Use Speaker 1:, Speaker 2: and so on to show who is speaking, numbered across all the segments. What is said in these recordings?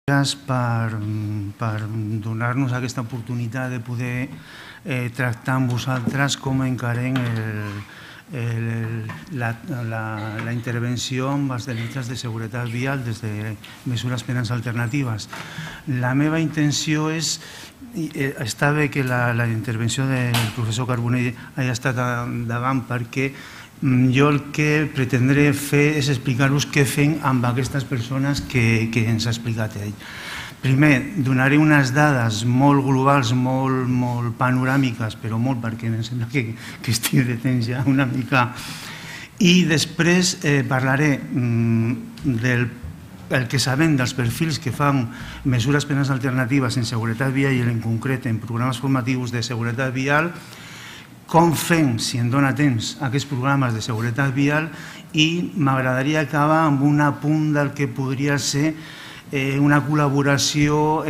Speaker 1: per donar-nos aquesta oportunitat de poder tractar amb vosaltres com encarem la intervenció amb els delictes de seguretat vial des de mesures penals alternatives. La meva intenció és, està bé que la intervenció del professor Carbonell hagi estat endavant, perquè jo el que pretendré fer és explicar-vos què fem amb aquestes persones que ens ha explicat ell. Primer, donaré unes dades molt globals, molt panoràmiques, però molt perquè em sembla que estic de temps ja una mica. I després parlaré del que sabem dels perfils que fan mesures penals alternatives en seguretat vial i en concret en programes formatius de seguretat vial, com fem, si em dóna temps, aquests programes de seguretat vial, i m'agradaria acabar amb un apunt del que podria ser una col·laboració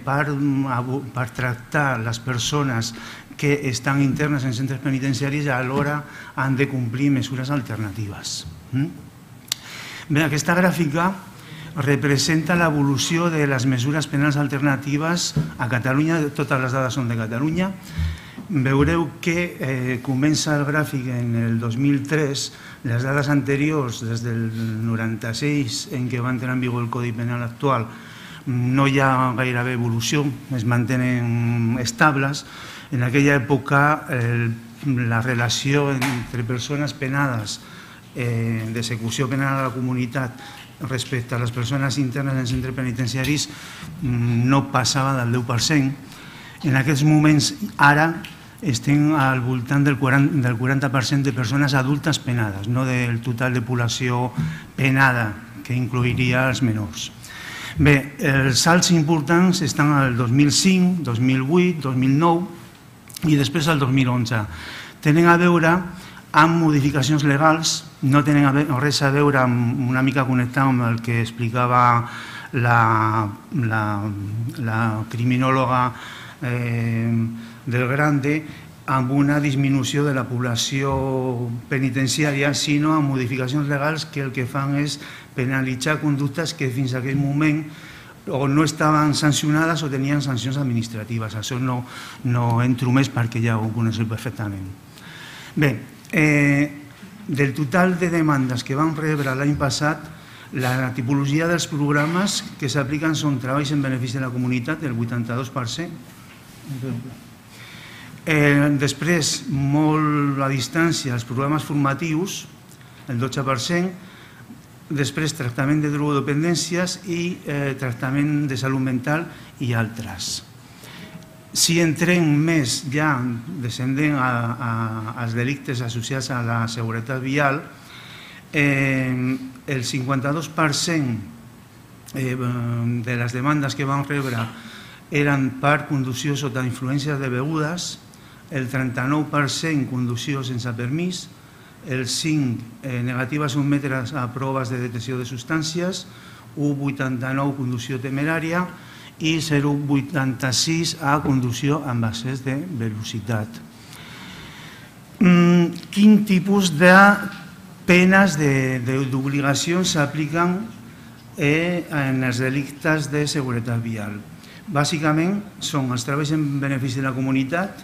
Speaker 1: per tractar les persones que estan internes en centres penitenciaris i alhora han de complir mesures alternatives. Bé, aquesta gràfica representa l'evolució de les mesures penals alternatives a Catalunya, totes les dades són de Catalunya. Veureu que comença el gràfic en el 2003, les dades anteriors, des del 96, en què va entrar en vigor el Codi Penal actual, no hi ha gairebé evolució, es mantenen estables. En aquella època, la relació entre persones penades d'execució penal a la comunitat respecte a les persones internes en centres penitenciaris no passava del 10%. En aquests moments, ara, estem al voltant del 40% de persones adultes penades, no del total de població penada, que incluiria els menors. Bé, els salts importants estan al 2005, 2008, 2009 i després al 2011. Tenen a veure amb modificacions legals, no tenen res a veure amb una mica connectat amb el que explicava la criminòloga del Grande, amb una disminució de la població penitenciària, sinó amb modificacions legals que el que fan és penalitzar conductes que fins a aquell moment o no estaven sancionades o tenien sancions administratives. Això no entro més perquè ja ho coneixeu perfectament. Bé, del total de demandes que vam rebre l'any passat, la tipologia dels programes que s'apliquen són treballs en benefici de la comunitat, el 82%. Després, molt a distància, els programes formatius, el 12%, després tractament de drogodependències i tractament de salut mental i altres. Si entrem més ja descendent als delictes associats a la seguretat vial, el 52% de les demandes que vam rebre eren per conducció sota influència de begudes, el 39% conducció sense permís, el 5% negativa a sotmetre's a proves de detecció de substàncies, 1,89% conducció temerària i 0,86% a conducció amb excés de velocitat. Quin tipus de penes d'obligacions s'apliquen en els delictes de seguretat vial? Bàsicament són els treballs en benefici de la comunitat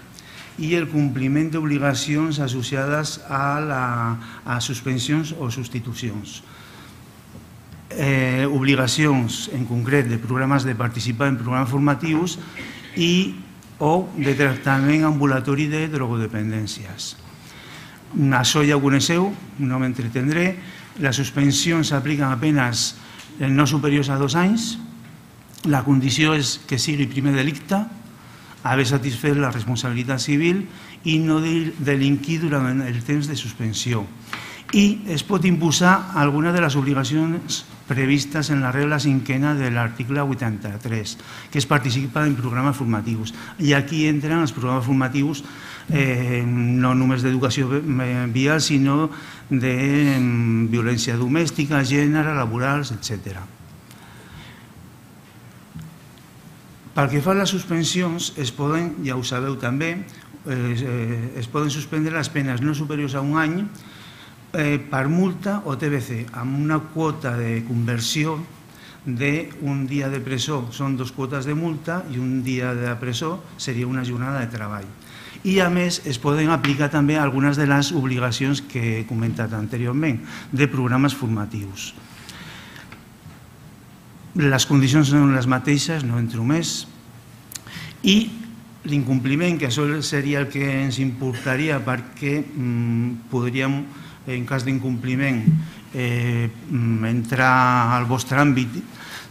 Speaker 1: i el compliment d'obligacions associades a suspensions o substitucions. Obligacions, en concret, de programes de participar en programes formatius o de tractament ambulatori de drogodependències. Això ja ho coneixeu, no m'entretendré. Les suspensions s'apliquen a penes no superiors a 2 anys. La condició és que sigui primer delicte, haver satisfet la responsabilitat civil i no delinquir durant el temps de suspensió. I es pot imposar alguna de les obligacions previstes en la regla 5a de l'article 83, que és participar en programes formatius. I aquí entren els programes formatius no només d'educació vial, sinó de violència domèstica, gènere, laborals, etc. Pel que fa a les suspensions, es poden, ja ho sabeu també, es poden suspendre les penes no superiors a 1 any per multa o TBC, amb una quota de conversió d'un dia de presó són 2 quotes de multa i un dia de presó seria una jornada de treball. I, a més, es poden aplicar també algunes de les obligacions que he comentat anteriorment, de programes formatius. Les condicions són les mateixes, no entro més, i l'incompliment, que això seria el que ens importaria perquè podríem, en cas d'incompliment, entrar al vostre àmbit,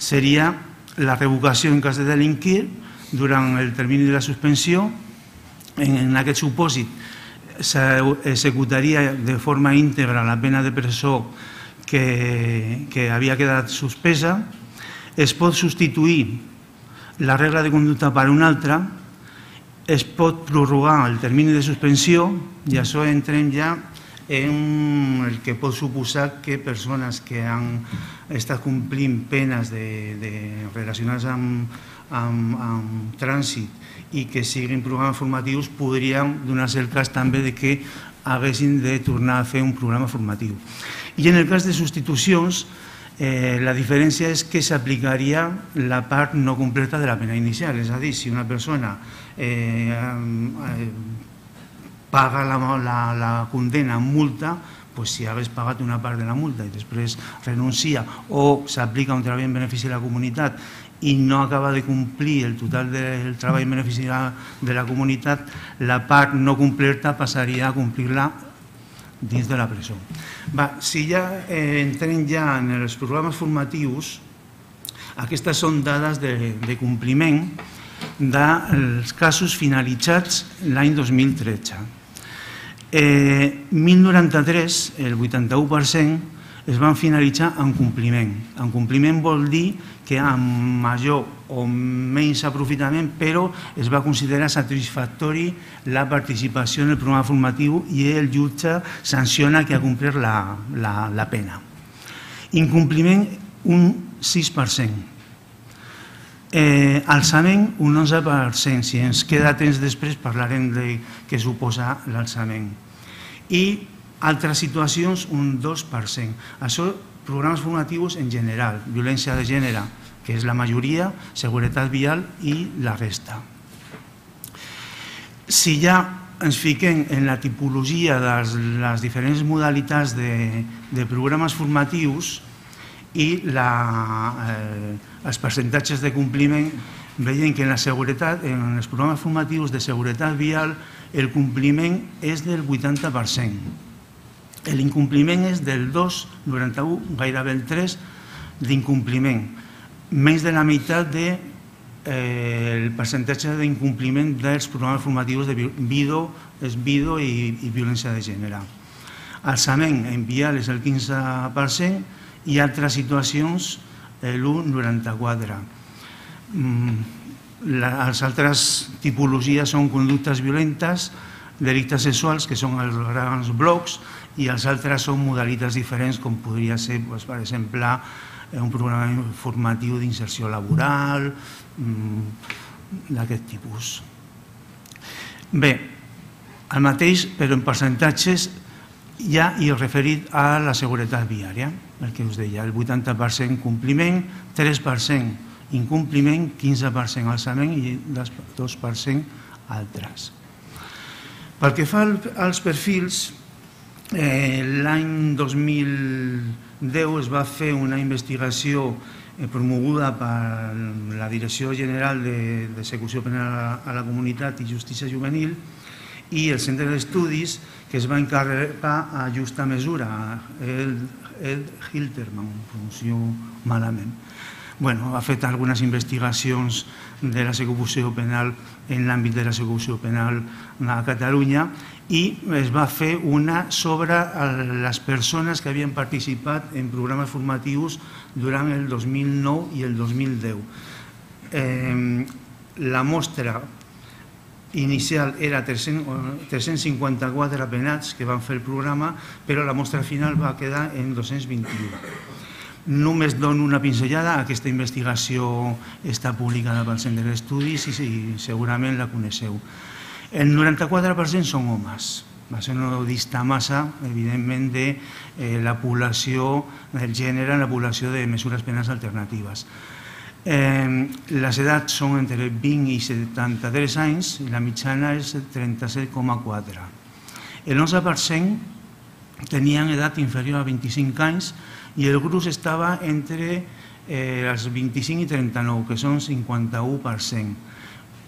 Speaker 1: seria la revocació en cas de delinquir durant el termini de la suspensió. En aquest supòsit s'executaria de forma íntegra la pena de presó que havia quedat suspesa. Es pot substituir la regla de conducta per una altra, es pot prorrogar el termini de suspensió i això entrem ja en el que pot suposar que persones que han estat complint penes relacionades amb trànsit i que siguin programes formatius podrien donar-se el cas també de que haguessin de tornar a fer un programa formatiu. I en el cas de substitucions, la diferència és que s'aplicaria la part no completa de la pena inicial, és a dir, si una persona paga la condena amb multa, si hagués pagat una part de la multa i després renuncia o s'aplica un treball en benefici de la comunitat i no acaba de complir el total del treball en benefici de la comunitat, la part no completa passaria a complir-la dins de la presó. Si ja entrem ja en els programes formatius, aquestes són dades de compliment dels casos finalitzats l'any 2013. 1.093, el 81%, es van finalitzar en compliment. En compliment vol dir que amb major o menys aprofitament, però es va considerar satisfactori la participació en el programa formatiu i el jutge sanciona que ha complert la pena. Incompliment, un 6%. Alçament, un 11%. Si ens queda temps després parlarem de què suposa l'alçament. I altres situacions, un 2%. Això, programes formatius en general, violència de gènere, que és la majoria, seguretat vial i la resta. Si ja ens fiquem en la tipologia de les diferents modalitats de programes formatius i els percentatges de compliment, veiem que en els programes formatius de seguretat vial el compliment és del 80%. L'incompliment és del 2,91, gairebé el 3% d'incompliment. Menys de la meitat del percentatge d'incompliment dels programes formatius de VIDO i violència de gènere. Alçament en vial és el 15% i altres situacions l'1,94%. Les altres tipologies són conductes violentes, delictes sexuals, que són els grans blocs, i els altres són modalitats diferents, com podria ser, per exemple, un programa formatiu d'inserció laboral, d'aquest tipus. Bé, el mateix, però en percentatges, ja hi he referit a la seguretat viària, el que us deia, el 80% compliment, 3% incompliment, 15% alçament i 2% altres. Pel que fa als perfils, l'any 2010 es va fer una investigació promoguda per la Direcció General d'Execució Penal a la Comunitat i Justícia Juvenil i el Centre d'Estudis que es va encarregar a Justa Mesura, Ed Hilterman, pronuncio malament. Ha fet algunes investigacions de la l'execució penal en l'àmbit de l'execució penal a Catalunya i es va fer una sobre les persones que havien participat en programes formatius durant el 2009 i el 2010. La mostra inicial era 354 penats que van fer el programa, però la mostra final va quedar en 221. Només dono una pinzellada, aquesta investigació està publicada pel Centre d'Estudis i segurament la coneixeu. El 94% són homes, Això no dista massa, evidentment, de la població del gènere en la població de mesures penals alternatives. Les edats són entre 20 i 73 anys i la mitjana és 37,4. El 11% tenien edat inferior a 25 anys i el gruix estava entre els 25 i 39, que són 51%.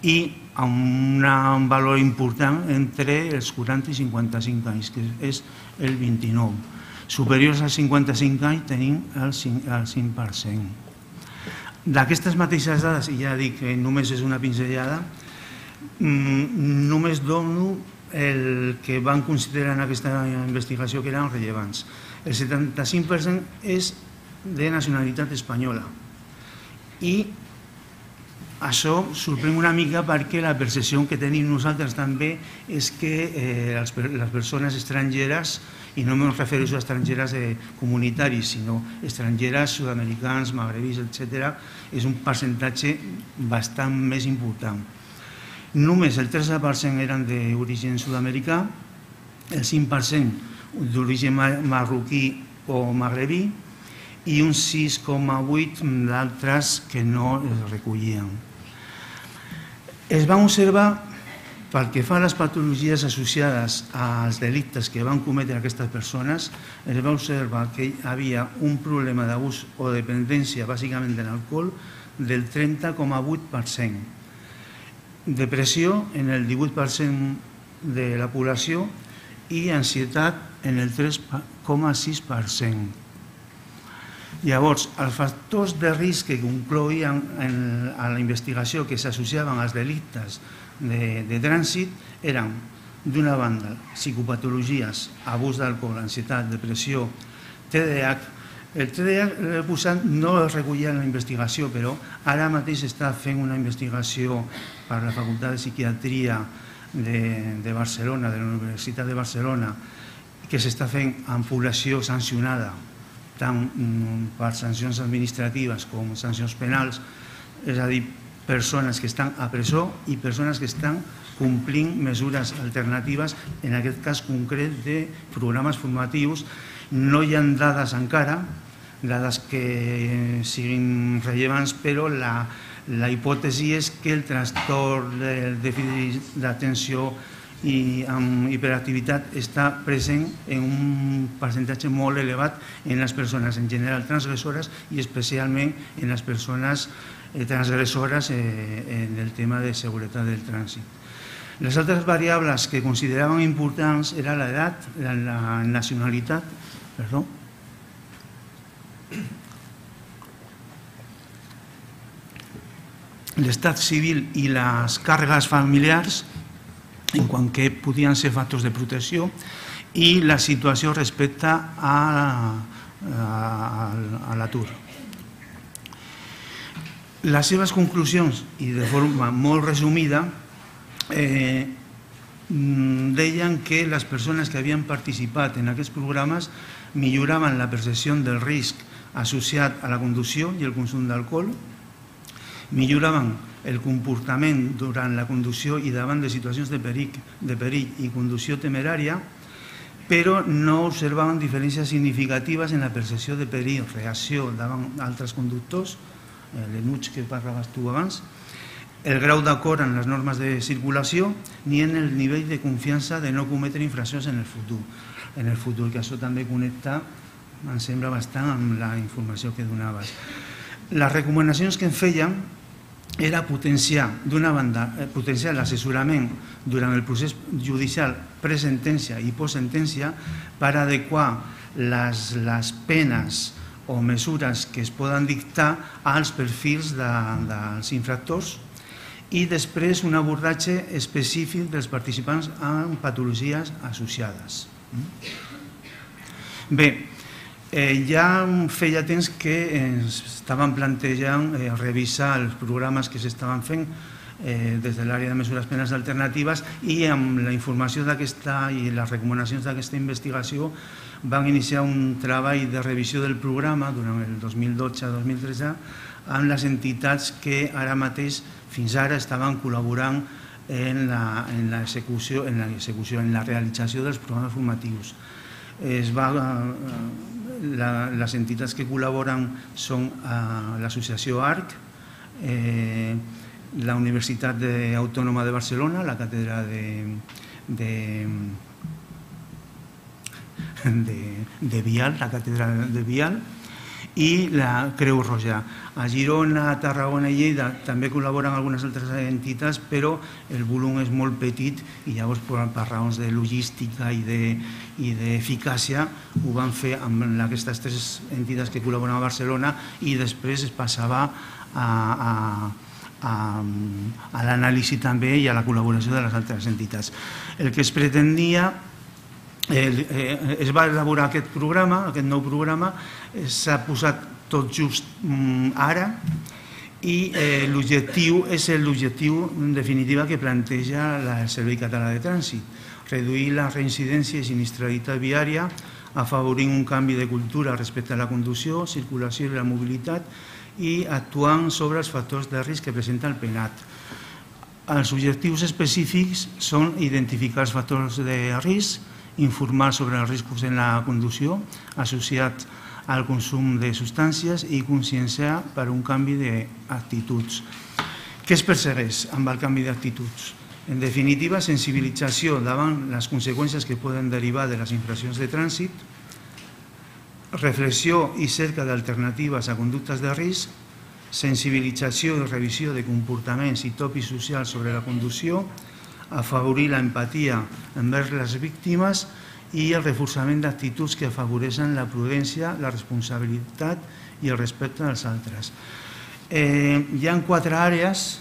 Speaker 1: I amb un valor important entre els 40 i 55 anys, que és el 29. Superiors als 55 anys tenim el 5%. D'aquestes mateixes dades, i ja dic que només és una pinzellada, només dono el que van considerar en aquesta investigació que eren rellevants. El 75% és de nacionalitat espanyola. I això sorprèn una mica perquè la percepció que tenim nosaltres també és que les persones estrangeres, i no em refereixo a estrangeres comunitaris, sinó estrangeres sud-americans, magrebis, etc., és un percentatge bastant més important. Només el 13% eren d'origen sud-americà, el 5% d'origen marroquí o magrebí i un 6,8% d'altres que no es recollien. Es van observar, pel que fa a les patologies associades als delictes que van cometre aquestes persones, es va observar que hi havia un problema d'abús o dependència, bàsicament de l'alcohol, del 30,8%. Depressió en el 18% de la població i ansietat en el 3,6%. Llavors, els factors de risc que concloïen a la investigació que s'associaven als delictes de trànsit eren, d'una banda, psicopatologies, abús d'alcohol, ansietat, depressió, TDAH. El TDAH no es recollia en la investigació, però ara mateix està fent una investigació per la Facultat de Psiquiatria de Barcelona, de la Universitat de Barcelona, que s'està fent en població sancionada, tant per sancions administratives com sancions penals, és a dir, persones que estan a presó i persones que estan complint mesures alternatives, en aquest cas concret de programes formatius. No hi ha dades encara, dades que siguin rellevants, però la hipòtesi és que el trastorn del dèficit d'atenció i amb hiperactivitat està present en un percentatge molt elevat en les persones en general transgressores i especialment en les persones transgressores en el tema de seguretat del trànsit. Les altres variables que consideraven importants eren l'edat, la nacionalitat, l'estat civil i les càrregues familiars, en quant que podien ser factors de protecció, i la situació respecte a l'atur. Les seves conclusions, i de forma molt resumida, deien que les persones que havien participat en aquests programes milloraven la percepció del risc associat a la conducció i el consum d'alcohol, milloraven el comportament durant la conducció i davant de situacions de perill i conducció temerària, però no observaven diferències significatives en la percepció de perill, reacció davant altres conductors, l'enuig que parlaves tu abans, el grau d'acord en les normes de circulació, ni en el nivell de confiança de no cometre infraccions en el futur, que això també connecta, em sembla, bastant amb la informació que donaves. Les recomanacions que em feien era potenciar, d'una banda, potenciar l'assessorament durant el procés judicial presentència i postsentència per adequar les penes o mesures que es poden dictar als perfils dels infractors i després un abordatge específic dels participants amb patologies associades. Bé, ja feia temps que estaven plantejant revisar els programes que s'estaven fent des de l'àrea de mesures penals alternatives i amb la informació d'aquesta i les recomanacions d'aquesta investigació van iniciar un treball de revisió del programa durant el 2012-2013 amb les entitats que ara mateix, fins ara, estaven col·laborant en la realització dels programes formatius. Les entitats que col·laboren són l'associació ARC, la Universitat Autònoma de Barcelona, la càtedra de Vial, la càtedra de Vial, i la Creu Roja. A Girona, Tarragona i Lleida també col·laboren algunes altres entitats, però el volum és molt petit i llavors per raons de logística i d'eficàcia ho van fer amb aquestes tres entitats que col·laboren a Barcelona i després es passava a l'anàlisi també i a la col·laboració de les altres entitats. El que es pretenia, es va elaborar aquest programa, aquest nou programa, s'ha posat tot just ara i l'objectiu és l'objectiu en definitiva que planteja el Servei Català de Trànsit, reduir la reincidència i sinistralitat viària, afavorint un canvi de cultura respecte a la conducció, circulació i la mobilitat i actuant sobre els factors de risc que presenta el PENAT. Els objectius específics són identificar els factors de risc, informar sobre els riscos en la conducció associats al consum de substàncies i conscienciar per un canvi d'actituds. Què es persegueix amb el canvi d'actituds? En definitiva, sensibilització davant les conseqüències que poden derivar de les infraccions de trànsit, reflexió i cerca d'alternatives a conductes de risc, sensibilització i revisió de comportaments i tòpics socials sobre la conducció, afavorir l'empatia envers les víctimes i el reforçament d'actituds que afavoreixen la prudència, la responsabilitat i el respecte als altres. Hi ha quatre àrees,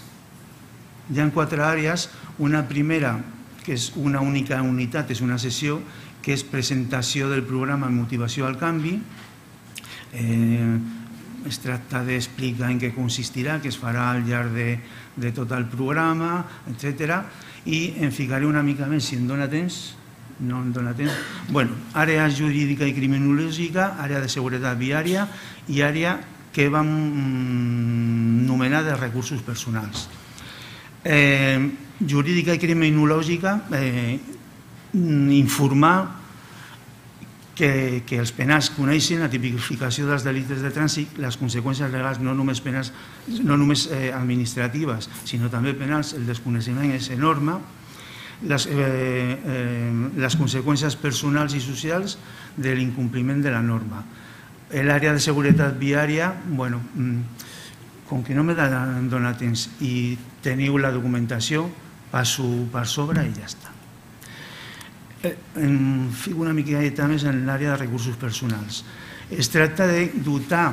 Speaker 1: una primera, que és una única unitat, és una sessió, que és presentació del programa Motivació al Canvi. Es tracta d'explicar en què consistirà, què es farà al llarg de tot el programa, etc. I em ficaré una mica més, si em dóna temps. No em dóna temps. Bueno, àrea jurídica i criminològica, àrea de seguretat viària i àrea que vam anomenar de recursos personals. Jurídica i criminològica, informar que els penals coneixen la tipificació dels delictes de trànsit, les conseqüències legals no només administratives, sinó també penals, el desconeixement és enorme, les conseqüències personals i socials de l'incompliment de la norma. L'àrea de seguretat viària, com que no m'he donat temps i teniu la documentació, passo per sobre i ja està. Em fico una miqueta més en l'àrea de recursos personals. Es tracta de dotar,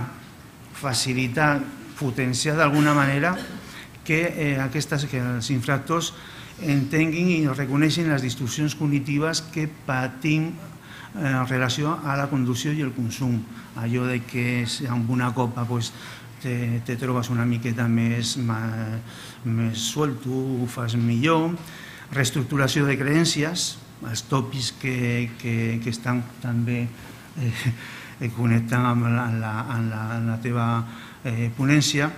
Speaker 1: facilitar, potenciar d'alguna manera que els infractors entenguin i reconeixin les distorsions cognitives que patim en relació a la conducció i el consum. Allò que amb una copa te trobes una miqueta més suelto, ho fas millor. Reestructuració de creences, els tòpics que estan també connectant amb la teva ponència,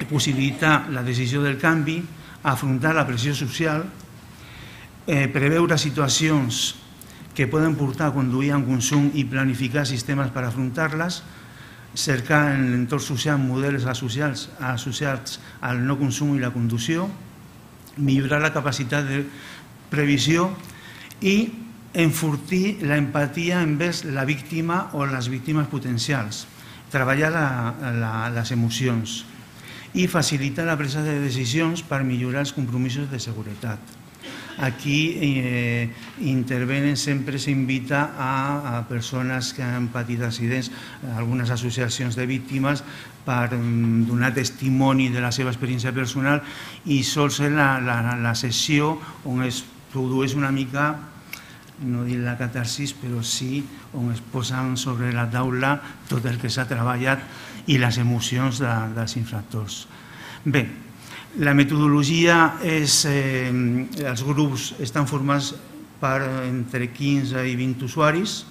Speaker 1: possibilitar la decisió del canvi, afrontar la pressió social, preveure situacions que poden portar a conduir en consum i planificar sistemes per afrontar-les, cercar en l'entorn social models associats al no consum i la conducció, millorar la capacitat de previsió i enfortir l'empatia envers la víctima o les víctimes potencials, treballar les emocions i facilitar la presa de decisions per millorar els compromisos de seguretat. Aquí intervenen, sempre s'invita a persones que han patit accidents, algunes associacions de víctimes, per donar testimoni de la seva experiència personal i sol ser la sessió on es produeix una mica, no dir la catarsis, però sí on es posen sobre la taula tot el que s'ha treballat i les emocions dels infractors. Bé, la metodologia és, els grups estan formats per entre 15 i 20 usuaris,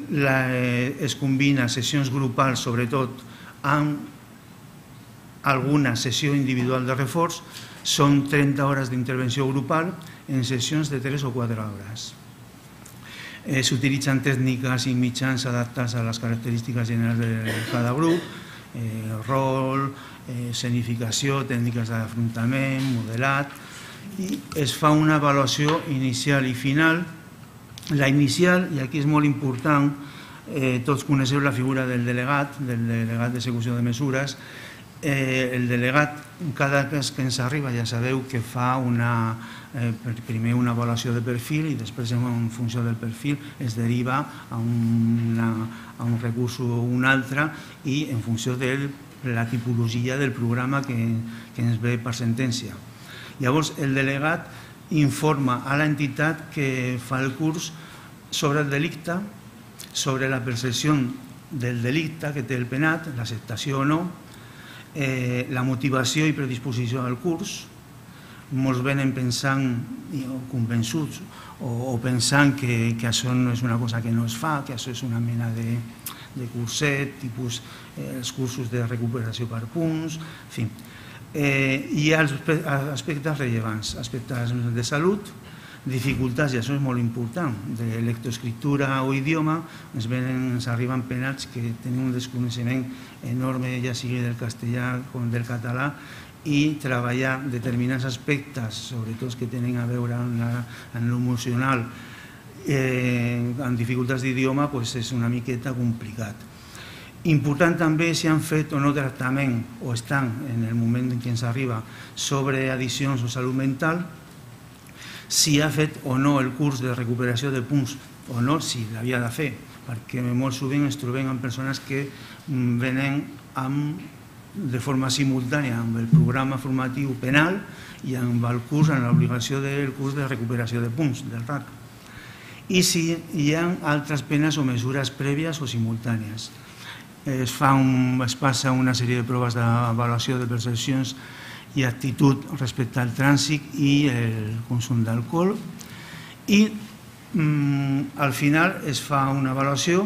Speaker 1: es combina sessions grupals sobretot amb alguna sessió individual de reforç, Són 30 hores d'intervenció grupal en sessions de 3 o 4 hores. S'utilitzen tècniques i mitjans adaptats a les característiques generals de cada grup, rol, escenificació, tècniques d'afrontament, modelat, i es fa una avaluació inicial i final. La inicial, i aquí és molt important, tots coneixeu la figura del delegat d'execució de mesures. El delegat, cada cas que ens arriba, ja sabeu que fa primer una avaluació de perfil i després, en funció del perfil, es deriva a un recurs o un altre i en funció de la tipologia del programa que ens ve per sentència. Llavors, el delegat informa a l'entitat que fa el curs sobre el delicte, sobre la percepció del delicte que té el penat, l'acceptació o no, la motivació i predisposició al curs. Molts venen pensant, convençuts, o pensant que això no és una cosa que no es fa, que això és una mena de curset, tipus els cursos de recuperació per punts, en fi. Hi ha aspectes rellevants, aspectes de salut, dificultats, i això és molt important, de lectoescriptura o idioma. Ens arriben penats que tenen un desconeixement enorme, ja sigui del castellà com del català, i treballar determinats aspectes, sobretot que tenen a veure amb l'emocional, amb dificultats d'idioma, és una miqueta complicat. Important també si han fet o no tractament, o estan en el moment en què ens arriba, sobre addiccions o salut mental, si ha fet o no el curs de recuperació de punts, o no, si l'havia de fer, perquè molt sovint ens trobem amb persones que venen de forma simultània amb el programa formatiu penal i amb el curs, amb l'obligació del curs de recuperació de punts, del RAC. I si hi ha altres penes o mesures prèvies o simultànies. Es passa una sèrie de proves d'avaluació de percepcions i actitud respecte al trànsit i el consum d'alcohol, i al final es fa una avaluació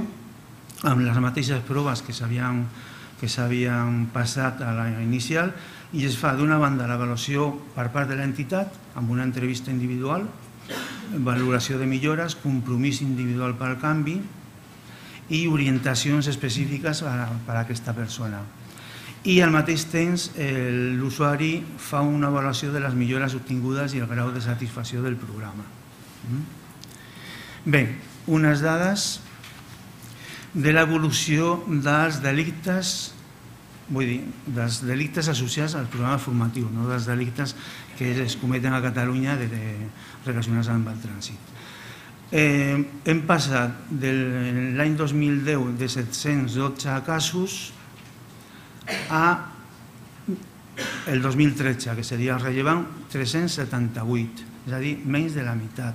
Speaker 1: amb les mateixes proves que s'havien passat a la inicial, i es fa d'una banda l'avaluació per part de l'entitat amb una entrevista individual, valoració de millores, compromís individual pel canvi i orientacions específiques per a aquesta persona. I al mateix temps l'usuari fa una avaluació de les millores obtingudes i el grau de satisfacció del programa. Bé, unes dades de l'evolució dels delictes, vull dir, dels delictes associats al programa formatiu, no dels delictes que es cometen a Catalunya relacionats amb el trànsit. Hem passat l'any 2010 de 712 casos a el 2013, que seria rellevant, 378, és a dir, menys de la meitat.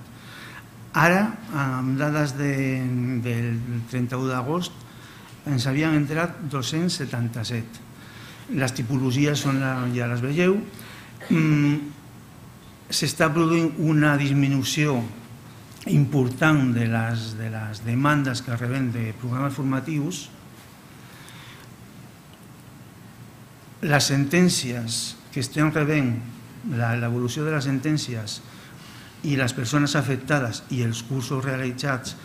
Speaker 1: Ara, amb dades del 31 d'agost, ens havien entrat 277. Les tipologies ja les veieu. S'està produint una disminució important de les demandes que rebem de programes formatius. Les sentències que estem rebent, l'evolució de les sentències i les persones afectades i els cursos realitzats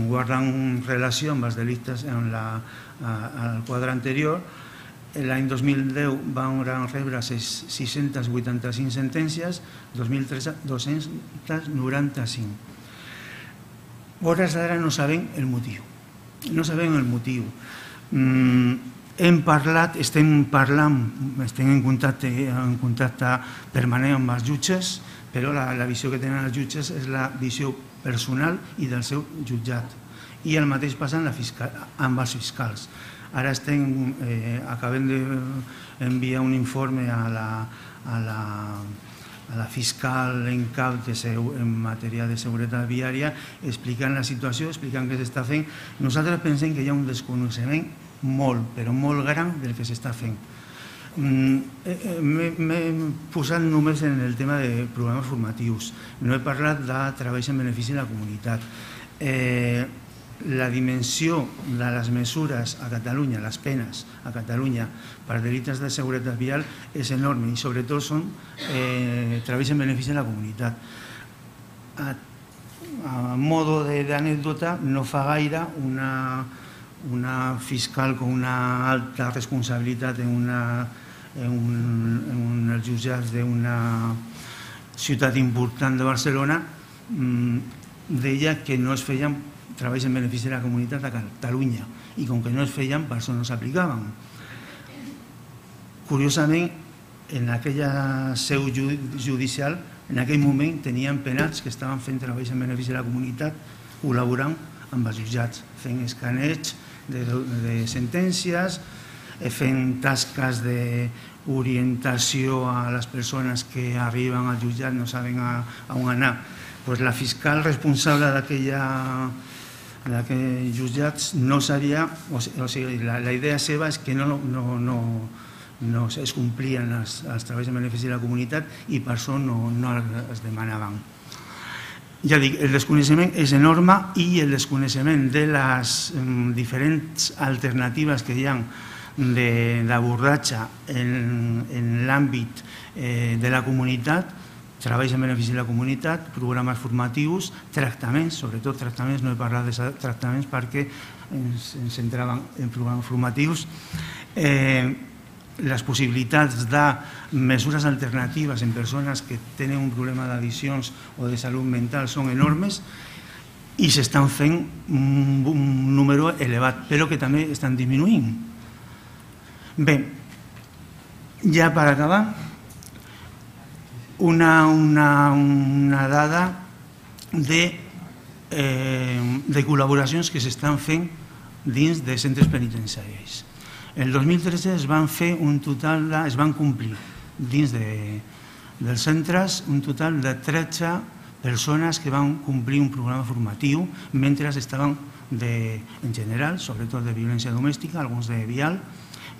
Speaker 1: guarden relació amb els delictes al quadre anterior. L'any 2010 van rebre 685 sentències, 2013 295. Hores d'ara no sabem el motiu. No sabem el motiu. Estem en contacte permanent amb els jutges, però la visió que tenen els jutges és la visió personal i del seu jutjat. I el mateix passa amb els fiscals. Ara acabem d'enviar un informe a la fiscal en cap en matèria de seguretat viària, explicant la situació, explicant què s'està fent. Nosaltres pensem que hi ha un desconeixement molt, però molt gran del que s'està fent. M'he posat només en el tema de programes formatius, no he parlat de treballs en benefici de la comunitat. la dimensió de les mesures a Catalunya, les penes a Catalunya per delictes de seguretat vial és enorme i sobretot són treballs en benefici de la comunitat. A modo d'anècdota, no fa gaire una fiscal con una alta responsabilitat en els jutjats d'una ciutat important de Barcelona deia que no es feien treballs en benefici de la comunitat a Catalunya i com que no es feien, per això no s'aplicaven. Curiosament, en aquella seu judicial, en aquell moment tenien penats que estaven fent treballs en benefici de la comunitat col·laborant amb els jutjats, fent escaneig de sentències, fent tasques d'orientació a les persones que arriben al jutjat, no saben a on anar. La fiscal responsable d'aquells jutjats no sabia, o sigui, la idea seva és que no es complien els treballs en benefici de la comunitat i per això no es demanaven. Ja dic, el desconeixement és enorme i el desconeixement de les diferents alternatives que hi ha d'abordatge en l'àmbit de la comunitat, treballs en benefici de la comunitat, programes formatius, tractaments, sobretot tractaments, no he parlat de tractaments perquè ens centràvem en programes formatius, les possibilitats de mesures alternatives en persones que tenen un problema d'addiccions o de salut mental són enormes i s'estan fent un número elevat, però que també estan disminuint. Bé, ja per acabar, una dada de col·laboracions que s'estan fent dins de centres penitenciaris. El 2013 es van complir dins dels centres un total de 13 persones que van complir un programa formatiu mentre estaven, en general, sobretot de violència domèstica, alguns de vial,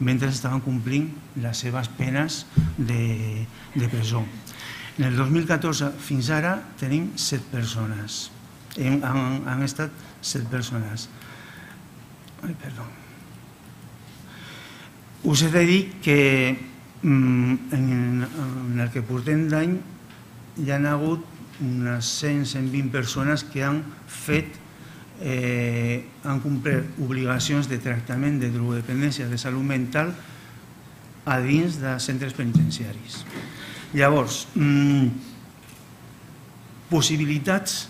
Speaker 1: mentre estaven complint les seves penes de presó. En el 2014 fins ara tenim 7 persones. Han estat 7 persones. Ai, perdó. Us he de dir que en el que portem d'any hi ha hagut unes 100-120 persones que han complert obligacions de tractament de drogodependència, de salut mental, a dins de centres penitenciaris. Llavors, possibilitats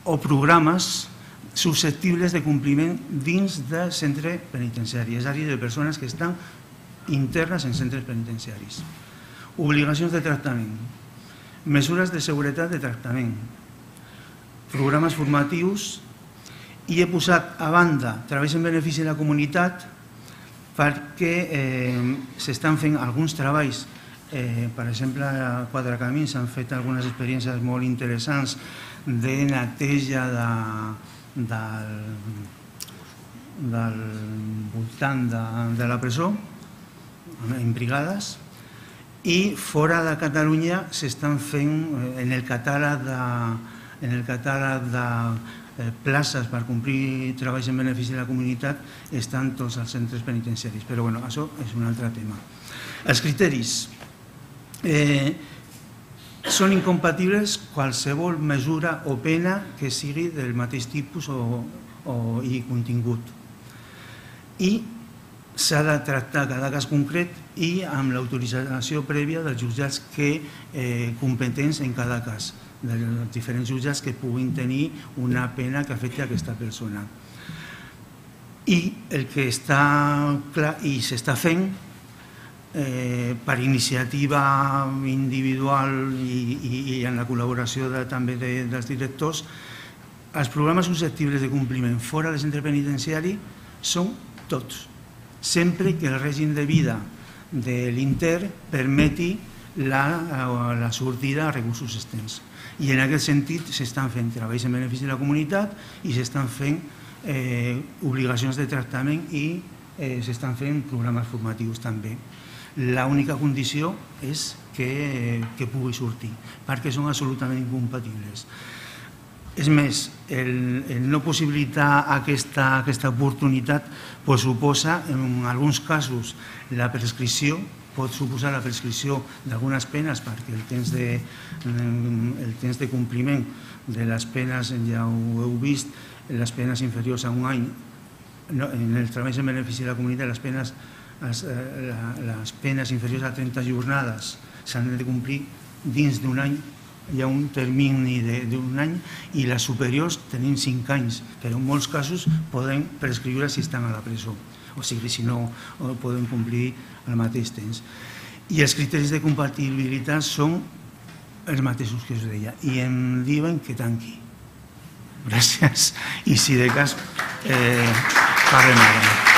Speaker 1: o programes susceptibles de compliment dins de centre penitenciari, és a dir, de persones que estan internes en centres penitenciaris. Obligacions de tractament, mesures de seguretat de tractament, programes formatius, i he posat a banda treballs en benefici de la comunitat perquè s'estan fent alguns treballs. Per exemple, a Quatre Camins s'han fet algunes experiències molt interessants de neteja del voltant de la presó, en brigades, i fora de Catalunya s'estan fent, en el catàleg de places per complir treballs en benefici de la comunitat, estan tots els centres penitenciaris. Però bueno, això és un altre tema. Els criteris. Són incompatibles qualsevol mesura o pena que sigui del mateix tipus i contingut. I s'ha de tractar cada cas concret i amb l'autorització prèvia dels jutjats competents en cada cas, dels diferents jutjats que puguin tenir una pena que afecti aquesta persona. I el que està clar i s'està fent per iniciativa individual i en la col·laboració també dels directors, els programes susceptibles de compliment fora del centre penitenciari són tots, sempre que el règim de vida de l'intern permeti la sortida a recursos externs. I en aquest sentit s'estan fent treballs en benefici de la comunitat i s'estan fent obligacions de tractament i s'estan fent programes formatius també. L'única condició és que pugui sortir, perquè són absolutament incompatibles. És més, el no possibilitar aquesta oportunitat suposa, en alguns casos, la prescripció, pot suposar la prescripció d'algunes penes perquè el temps de compliment de les penes, ja ho heu vist, les penes inferiors a un any, en els treballs en benefici de la comunitat, les penes inferiors a 30 jornades s'han de complir dins d'un any, hi ha un termini d'un any, i les superiors tenim 5 anys, però en molts casos poden prescriure si estan a la presó, o sigui, si no poden complir al mateix temps. I els criteris de compatibilitat són els mateixos que us deia, i em diuen que tanqui. Gràcies, i si de cas parlem ara.